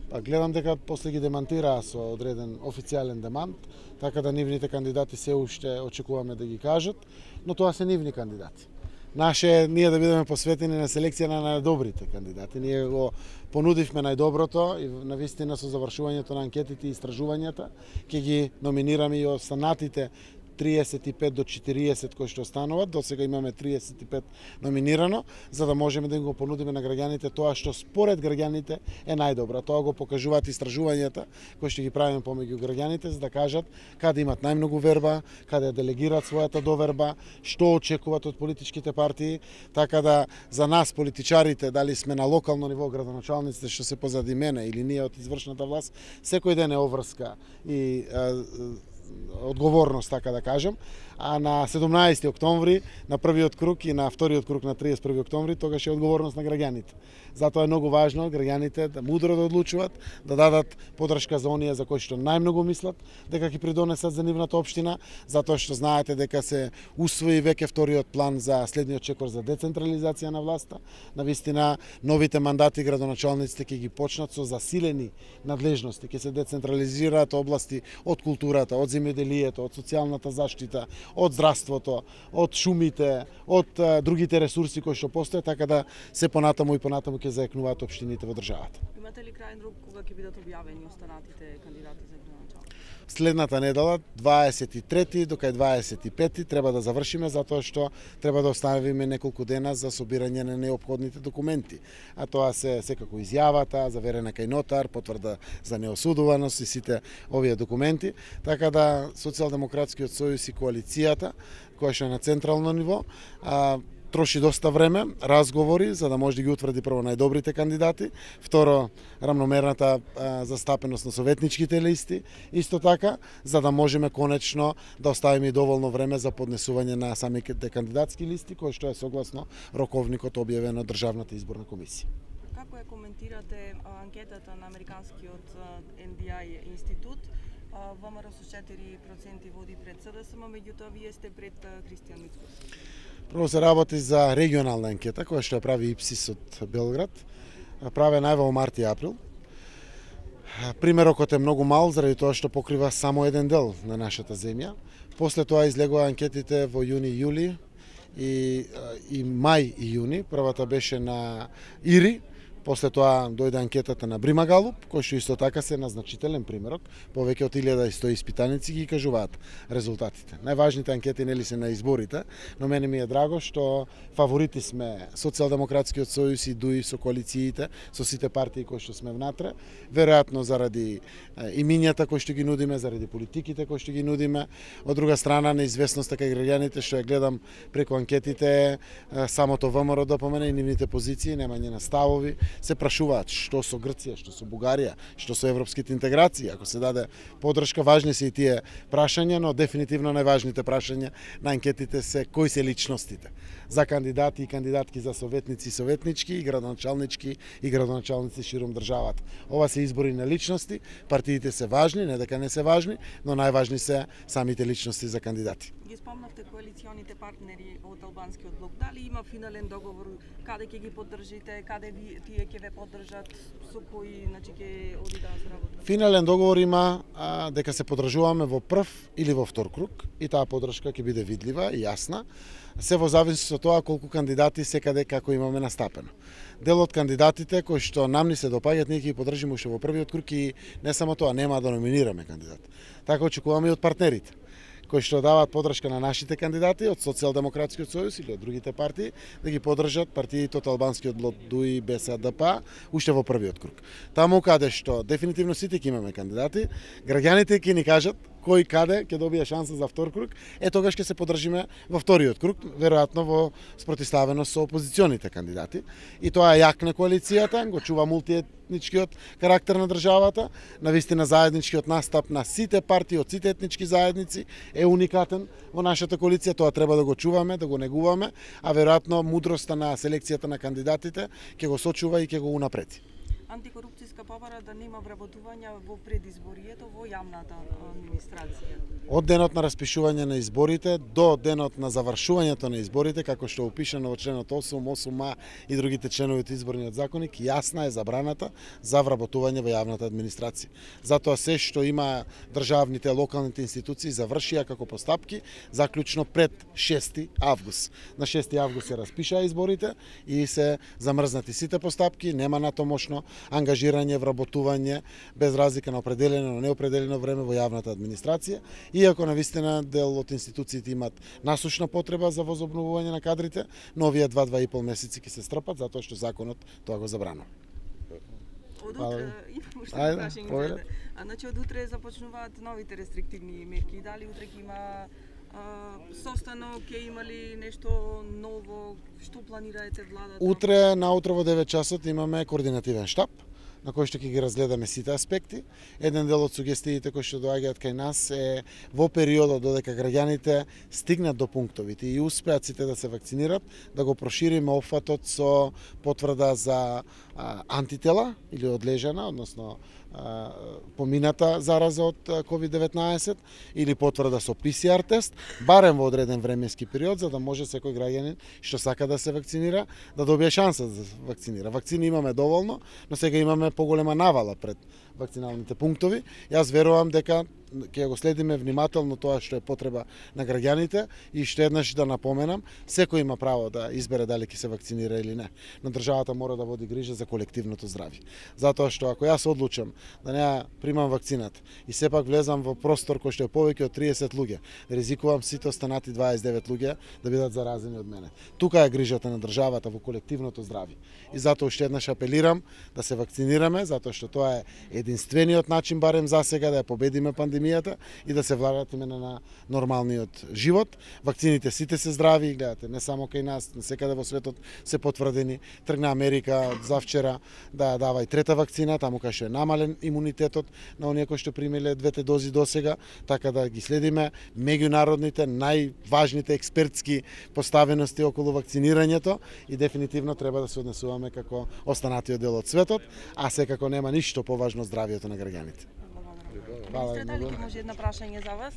Па гледам дека после ги демантираа со одреден официјален демант, така да нивните кандидати се уште очекуваме да ги кажат, но тоа се нивни кандидати. Наше ние да бидеме посветени на селекција на најдобрите кандидати. Ние го понудивме најдоброто и навистина со завршувањето на анкетите и истражувањата ќе ги номинираме и останатите 35 до 40 кои што остануваат. До сега имаме 35 номинирано, за да можеме да им го понудиме на граѓаните тоа што според граѓаните е најдобро. Тоа го покажуваат истражувањата кои што ги правиме помеѓу граѓаните, за да кажат каде имат најмногу верба, каде делегираат својата доверба, што очекуваат од политичките партии, така да за нас политичарите, дали сме на локално ниво, градоначалниците што се позади мене или ние од извршната власт, секој ден е обврска и одговорност, така да кажем, а на 17 октомври, на првиот круг и на вториот круг на 31 октомври, тогаш е одговорност на граѓаните. Затоа е многу важно граѓаните да мудро да одлучуваат, да дадат подршка за оние за кои што најмногу мислат дека ќе придонесат за нивната општина, затоа што знаете дека се усвои веќе вториот план за следниот чекор за децентрализација на власта. Навистина новите мандати градоначалниците ќе ги почнат со засилени надлежности, ќе се децентрализираат области од културата, од земјоделието, од социјалната заштита, од здравството, од шумите, од другите ресурси кои што постојат, така да се понатаму и понатаму ќе заекнуваат општините во државата. Имате ли крајен рок кога ќе бидат објавени останатите кандидати за градоначалник? Следната недела, 23 до кај 25 треба да завршиме, затоа што треба да оставиме неколку дена за собирање на неопходните документи. А тоа се секако изјавата, заверена кај нотар, потврда за неосудуваност и сите овие документи. Така да Социјалдемократскиот сојуз и коалицијата, која што е на централно ниво, троши доста време, разговори, за да може да ги утврди прво најдобрите кандидати, второ рамномерната застапеност на советничките листи, исто така, за да можеме конечно да оставиме и доволно време за поднесување на самите кандидатски листи, кој што е согласно роковникот објавен од Државната изборна комисија. Како ја коментирате анкетата на американскиот NDI институт? ВМРО со 4% води пред СДСМ, меѓутоа вие сте пред Кристијан Мицкоски. Прво се работи за регионална анкета, која што ја прави ИПСИС од Белград. Правена е во март и април. Примерокот е многу мал, заради тоа што покрива само еден дел на нашата земја. После тоа излегува анкетите во јуни, јули и мај и јуни. Првата беше на Ири. После тоа дојде анкетата на Бримагалуп, кој што исто така се на значителен примерок. Повеќе од 1100 испитаници ги кажуваат резултатите. Најважните анкети нели се на изборите, но мене ми е драго што фаворити сме Социјалдемократскиот сојуз и ДУИ со коалициите, со сите партии кои што сме внатре, веројатно заради имињата кои што ги нудиме, заради политиките кои што ги нудиме. Од друга страна, неизвестноста кај граѓаните што ја гледам преку анкетите, самото ВМРО да помене и нивните позиции, немање на ставови, се прашуваат што со Грција, што со Бугарија, што со европските интеграции. Ако се даде подршка, важни се и тие прашања, но дефинитивно најважните прашања на анкетите се кои се личностите за кандидати и кандидатки за советници и советнички и градоначалнички и градоначалници широм државата. Ова се избори на личности, партиите се важни, не дека не се важни, но најважни се самите личности за кандидати. Ги спомнавте коалиционите партнери од албанскиот блок. Дали има финален договор, каде ќе ги поддржите, каде тие ќе ве поддржат, со кои ќе оди да се работи? Финален договор има дека се поддржуваме во прв или во втор круг и таа поддршка ќе биде видлива и јасна. Се во зависност од тоа колку кандидати секаде како имаме настапено. Дел од кандидатите кои што нам ни се допаѓаат, ние ќе ги поддржиме уште во првиот круг и не само тоа, нема да номинираме кандидат. Така очекуваме и од партнерите кои што даваат поддршка на нашите кандидати од Социјалдемократскиот сојуз или од другите партии, да ги поддржат партиите од албанскиот блок ДУИ, БСДП уште во првиот круг. Таму каде што дефинитивно сите ќе имаме кандидати, граѓаните ќе ни кажат кој каде ќе добие шанса за втор круг, тогаш ќе се поддржиме во вториот круг, веројатно во спротивставеност со опозиционите кандидати. И тоа е јак на коалицијата, го чува мултиетничкиот карактер на државата, навистина заедничкиот настап на сите партии од сите етнички заедници е уникатен во нашата коалиција, тоа треба да го чуваме, да го негуваме, а веројатно мудроста на селекцијата на кандидатите ќе го сочува и ќе го унапреди. антикорупцијска побара да нема вработување во предизборието во јавната администрација? Од денот на распишување на изборите до денот на завршувањето на изборите, како што е опишано во членот 8, 8а и другите членови од изборниот законник, јасна е забраната за вработување во јавната администрација. Затоа се што има државните, локалните институции завршија како постапки, заклучно пред 6 август. На 6 август се распишаа изборите и се замрзнати сите постапки, нема натомошно ангажирање, вработување без разлика на определено или неопределено време во јавната администрација. Иако навистина дел од институциите имат насушна потреба за возобновување на кадрите, но овие 2-2,5 месеци ќе се стрпат затоа што законот тоа го забранува. Од утре имам уште прашање. Значи од утре започнуваат новите рестриктивни мерки. Дали утре ќе има состанок, ќе има ли нешто ново, што планираете владата? Утре наутро во 9 часот имаме координативен штаб на кој што ќе ги разгледаме сите аспекти. Еден дел од сугестиите кои што доаѓаат кај нас е во периодот додека граѓаните стигнат до пунктовите и успеат сите да се вакцинират, да го прошириме опфатот со потврда за антитела или одлежана, односно помината зараза од COVID-19 или потврда со PCR тест, барем во одреден временски период, за да може секој граѓанин што сака да се вакцинира, да добие шанса да се вакцинира. Вакцини имаме доволно, но сега имаме поголема навала пред вакциналните пунктови. Јас верувам дека ќе го следиме внимателно тоа што е потреба на граѓаните и што еднаш да напоменам, секој има право да избере дали ќе се вакцинира или не. Но државата мора да води грижа за колективното здравје. Затоа што ако јас одлучам да не ја примам вакцината и сепак влезам во простор кој што е повеќе од 30 луѓе, ризикувам сите останати 29 луѓе да бидат заразени од мене. Тука е грижата на државата во колективното здравје. И затоа уште еднаш апелирам да се вакцинираме, затоа што тоа е единствениот начин барем за сега да ја победиме пандемијата и да се вратиме на нормалниот живот. Вакцините сите се здрави, гледате, не само кај нас, секаде во светот се потврдени. Тргна Америка завчера да дава и трета вакцина, таму кај што е намален имунитетот на оние кои што примиле двете дози досега, така да ги следиме меѓународните најважните експертски поставености околу вакцинирањето и дефинитивно треба да се однесуваме како останатиот дел од светот, а секако нема ништо поважно здравието на граѓаните. Министре, дали ќе може една прашање за вас?